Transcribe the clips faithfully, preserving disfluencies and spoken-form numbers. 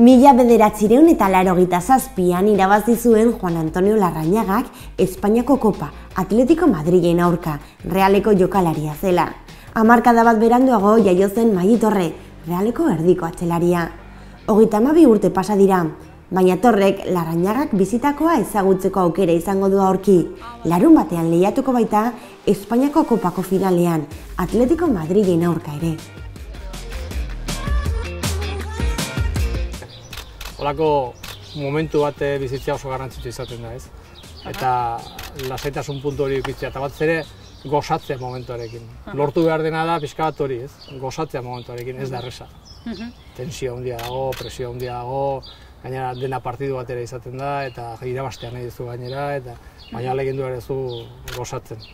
Mila bederatziehun eta laurogeita zazpian irabazi zuen Juan Antonio Larrañagak Espainiako Kopa Atletico Madrilen aurka, Realeko jokalaria zela. Hamarkada bat beranduago jaio zen Magi Torre, Realeko erdiko atzelaria. Hogeita hamabi urte pasa dira, baina Torrek Larrañagak bizitakoa ezagutzeko aukera izango du aurki. Larun batean lehiatuko baita Espainiako Kopako finalean, Atletico Madrilen aurka ere. Holako momentu bat bizitzea oso garrantzitsu izaten da, ez? Eta lasaitasun puntu hori ukitzea, eta batez ere gozatzea momentuarekin. Lortu behar dena da pixka bat hori, ez? Gozatzea momentuarekin, ez da erresa. Tensio handia dago, presio handia dago, gainera dena partidu batera izaten da, eta irabastea nahi duzu gainera, eta baina alegindu ere zu gozatzen.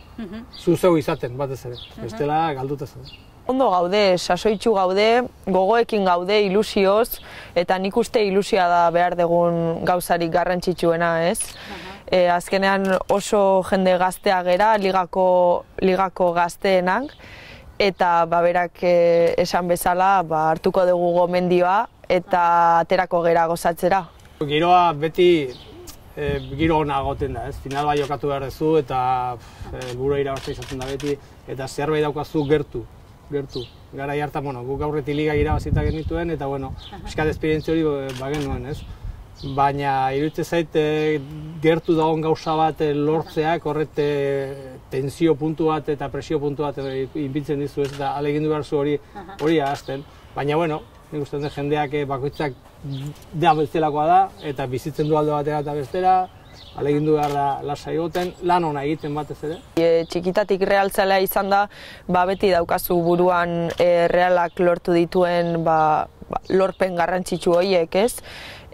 Zu zeu izaten, batez ere, bestela galduta zen. Ondo gaude, sasoitsu gaude, gogoekin gaude, ilusioz, eta nik uste ilusioa da behar dugun gauzarik garrantzitsuena, ez? E, azkenean oso jende gaztea gera, ligako, ligako gazteenak, eta baberak e, esan bezala ba, hartuko dugu gomendioa eta aterako gera gozatzera. Giroa beti e, giro ona egoten da, ez? Final bai jokatu behar duzu eta helburua irabaztea izaten da beti, eta zerbait daukazu gertu. gertu. Garai hartan, bueno, guk aurretik liga irabazita genituen, eta, bueno, pixkat esperientzia hori bagenuen, ez? Baina, iruditzen zait, gertu dagoen gauza bat lortzeak, horret tensio puntu bat eta presio puntu bat inbintzen dizu, ez? Eta alegindu behar zu hori hori ahazten. Baina, bueno, nik uste dut jendeak bakoitzak da bestelakoa da, eta bizitzen du alde batera eta bestera, alegindu behar da lasai egoten, lan ona egiten batez ere. E, txikitatik realtzalea izan da, ba, beti daukazu buruan e, realak lortu dituen ba, ba, lorpen garrantzitsu horiek, ez?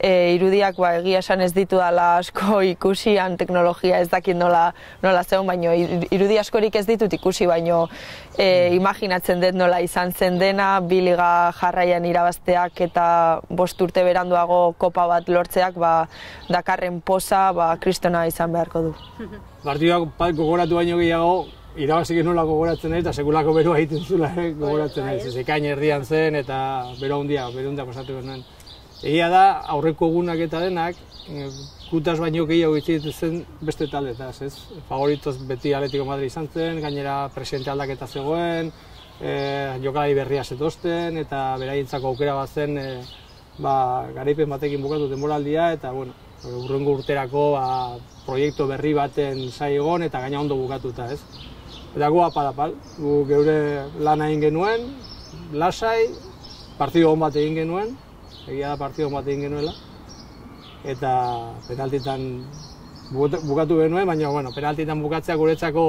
E, irudiak ba, egia esan ez ditu dela asko ikusian, teknologia ez dakit nola, nola zeon, baino irudi askorik ez ditut ikusi, baino e, imaginatzen dut nola izan zen dena, bi liga jarraian irabazteak eta bost urte beranduago kopa bat lortzeak ba, dakarren poza ba, kristona izan beharko du. Partiduak gogoratu baino gehiago, irabazik nola gogoratzen naiz, eta sekulako beroa egiten zula gogoratzen naiz. Ez ekain erdian zen eta bero handia, bero handia pasatu genuen. Egia da, aurreko egunak eta denak, gutaz baino gehiago itxegitu zen beste taldetaz, ez? Favoritoz beti Atletico Madrid izan zen, gainera presidente aldaketa zegoen, e, jokalari berria zetozten, eta beraientzako aukera bat zen e, ba, garaipen batekin bukatu denboraldia, eta bueno, hurrengo urterako ba, proiektu berri baten zai egon, eta gaina ondo bukatuta, ez? Eta gu apal-apal, gu geure lana egin genuen, lasai, partidu hon bat egin genuen, egia da partidu bat egin genuela, eta penaltitan bukatu genuen, baina bueno, penaltitan bukatzea guretzako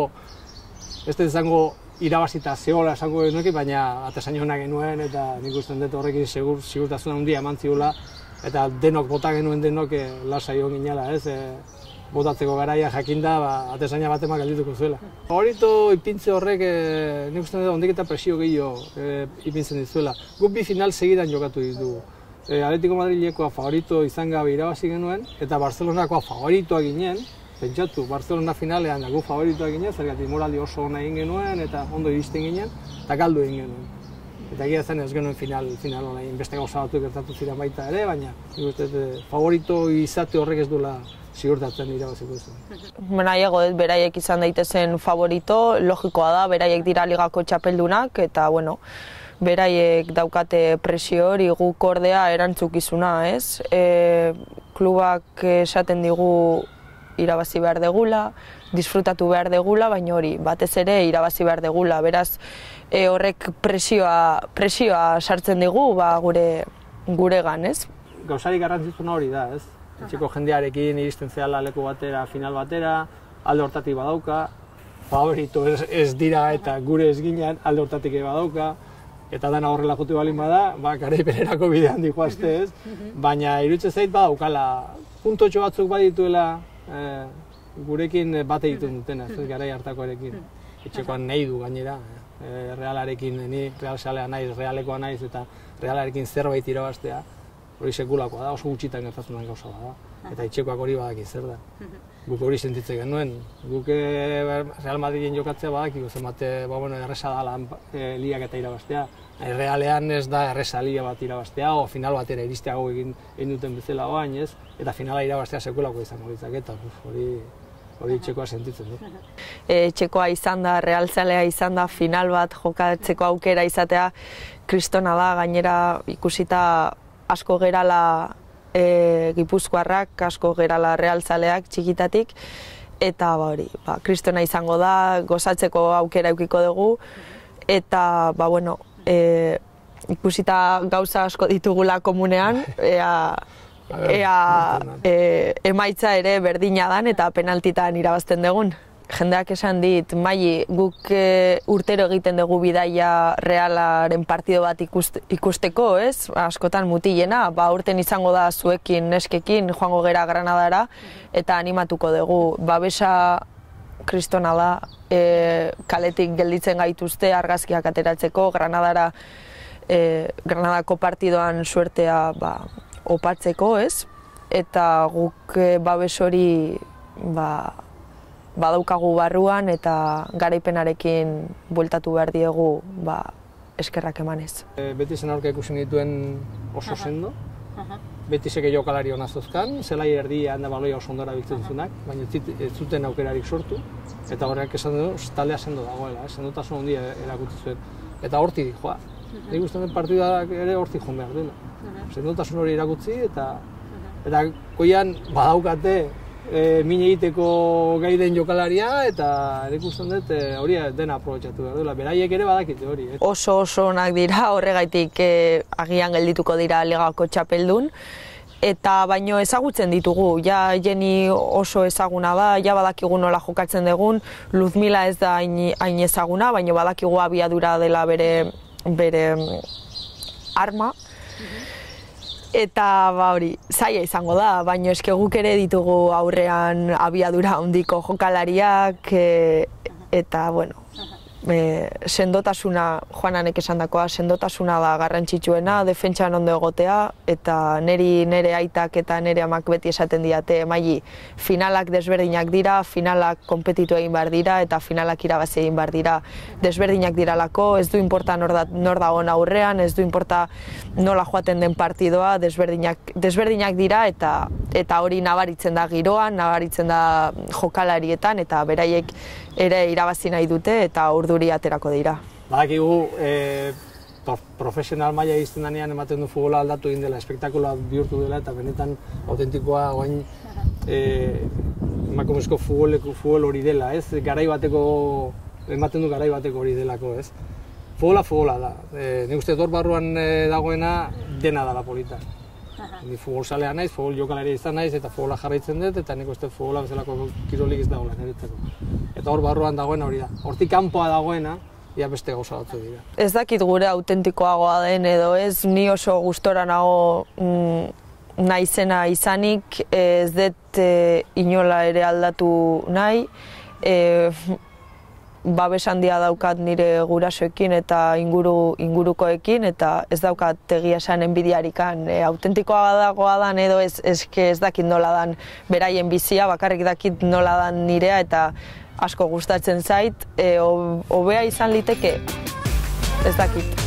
ez da izango irabazita zegoela esango genuekin, baina atezain hona genuen, eta nik usten dut horrekin segur, sigurtasun handia eman zigula, eta denok bota genuen denok e, lasai hon ginela, ez? E, botatzeko garaia jakinda, ba, atezaina bat emak aldituko zuela. Favorito ipintze horrek, e, nik usten dut ondik eta presio gehiago e, ipintzen dizuela. Guk bi final segidan jokatu ditugu. E, Atletico Madrilekoa favorito izan gabe irabazi genuen, eta Barcelonakoa favoritoa ginen, pentsatu, Barcelona finalean gu favoritoa ginen, zergatik moraldi oso ona egin genuen, eta ondo iristen ginen, eta galdu egin genuen. Eta egia zen ez genuen final, final hona egin, beste gauza batzuk gertatu ziren baita ere, baina nik uste favorito izate horrek ez duela ziurtatzen irabaziko zen. Nahiago dut beraiek izan daitezen favorito, logikoa da, beraiek dira ligako txapeldunak, eta bueno, beraiek daukate presio hori guk ordea erantzukizuna, ez? E, klubak esaten digu irabazi behar degula, disfrutatu behar degula, baina hori, batez ere irabazi behar degula, beraz e, horrek presioa, presioa sartzen digu ba, gure guregan, ez? Gauzarik garrantzitsuna hori da, ez? Etxeko jendearekin iristen zehala leku batera, final batera, alde hortatik badauka, favorito ez, ez dira eta gure ez ginen alde hortatik badauka, eta dana horrela jote balin bada, ba, garaipenerako bidean dihoazte, ez? Baina iruditzen zait badaukala, puntotxo batzuk badituela e, gurekin bat egiten dutena, ez garai hartakoarekin. Etxekoan nahi du gainera, e, Realarekin, ni Real Salea naiz, Realekoa naiz, eta Realarekin zerbait irabaztea, hori sekulakoa da, oso gutxitan gertatzen den gauza da. eta etxekoak hori badaki zer da. Guk hori sentitzen genuen. Guk Real Madriden jokatzea badaki, zemate, ba, bueno, erresa da lan e, liak eta irabaztea. Realean ez da erresa lia bat irabaztea, o final batera iristeago egin, egin duten bezala oain, ez? Eta finala irabaztea sekulako izango ditzak, eta hori, hori txekoa sentitzen du. E, txekoa izan da, realzalea izan da, final bat jokatzeko aukera izatea, kristona da, gainera ikusita asko gerala e, gipuzkoarrak, asko gerala realzaleak txikitatik, eta ba, hori, ba, kristona izango da, gozatzeko aukera eukiko dugu, eta, ba, bueno, E, ikusita gauza asko ditugula komunean, ea, ea e, emaitza ere berdina dan eta penaltitan irabazten dugun. Jendeak esan dit, Maili, guk e, urtero egiten dugu bidaia Realaren partido bat ikust, ikusteko, ez? Askotan mutilena, ba urten izango da zuekin, neskekin, joango gera Granadara, eta animatuko dugu. Babesa kristona da, e, kaletik gelditzen gaituzte argazkiak ateratzeko, Granadara, e, Granadako partidoan suertea ba, opatzeko, ez? Eta guk e, babes hori ba, badaukagu barruan eta garaipenarekin bueltatu behar diegu ba, eskerrak emanez. E, beti zen aurka ikusi dituen oso sendo. Beti seke jokalari hona zozkan, zelai erdia handa baloia oso ondora biltzen zunak, baina ez zuten aukerarik sortu, eta horrek esan du, taldea sendo dagoela, sendotasun handia erakutsi zuen. Eta horti joa, nik uste dut partidak ere horti joan behar dela. Sendotasun hori erakutsi, eta eta goian badaukate e, min egiteko gai den jokalaria, eta nik uste dut hori dena aprobetxatu behar dela. Beraiek ere badakite hori. Eh? Oso oso onak dira, horregaitik eh, agian geldituko dira ligako txapeldun, eta baino ezagutzen ditugu, ja Jenny oso ezaguna da, ja badakigu nola jokatzen dugun, Luzmila ez da hain, hain ezaguna, baino badakigu abiadura dela bere, bere arma, eta ba hori, zaila izango da, baino eske guk ere ditugu aurrean abiadura handiko jokalariak, e, eta bueno, e, sendotasuna, Juananek esandakoa, sendotasuna da garrantzitsuena, defentsan ondo egotea, eta neri nere aitak eta nere amak beti esaten diate, Maili, finalak desberdinak dira, finalak konpetitu egin behar dira, eta finalak irabazi egin behar dira. Desberdinak diralako, ez du inporta nor, da, nor dagoen aurrean, ez du inporta nola joaten den partidoa, desberdinak, desberdinak dira, eta eta hori nabaritzen da giroan, nabaritzen da jokalarietan, eta beraiek ere irabazi nahi dute, eta urduri aterako dira. Badakigu, e, profesional maila izten danean ematen du futbola aldatu egin dela, espektakuloa bihurtu dela, eta benetan autentikoa oain e, emakumezko futbol hori dela, ez? Garai bateko, ematen du garai bateko hori delako, ez? Futbola futbola da. E, nik uste dut barruan e, dagoena dena dela polita. Ni futbol salea naiz, futbol jokalaria izan naiz, eta futbola jarraitzen dut, eta nik uste futbola bezalako kirolik ez dagoela niretzako. Eta hor barruan dagoena hori da. Hortik kanpoa dagoena, ia beste gauza batzu dira. Ez dakit gure autentikoagoa den edo ez, ni oso gustora nago mm, naizena izanik, ez dut e, inola ere aldatu nahi, e, babes handia daukat nire gurasoekin eta inguru, ingurukoekin, eta ez daukat egia esan enbidiarikan. E, autentikoa dagoa dan edo ez, eske ez dakit nola dan beraien bizia, bakarrik dakit nola dan nirea, eta asko gustatzen zait, e, hobea izan liteke, ez dakit.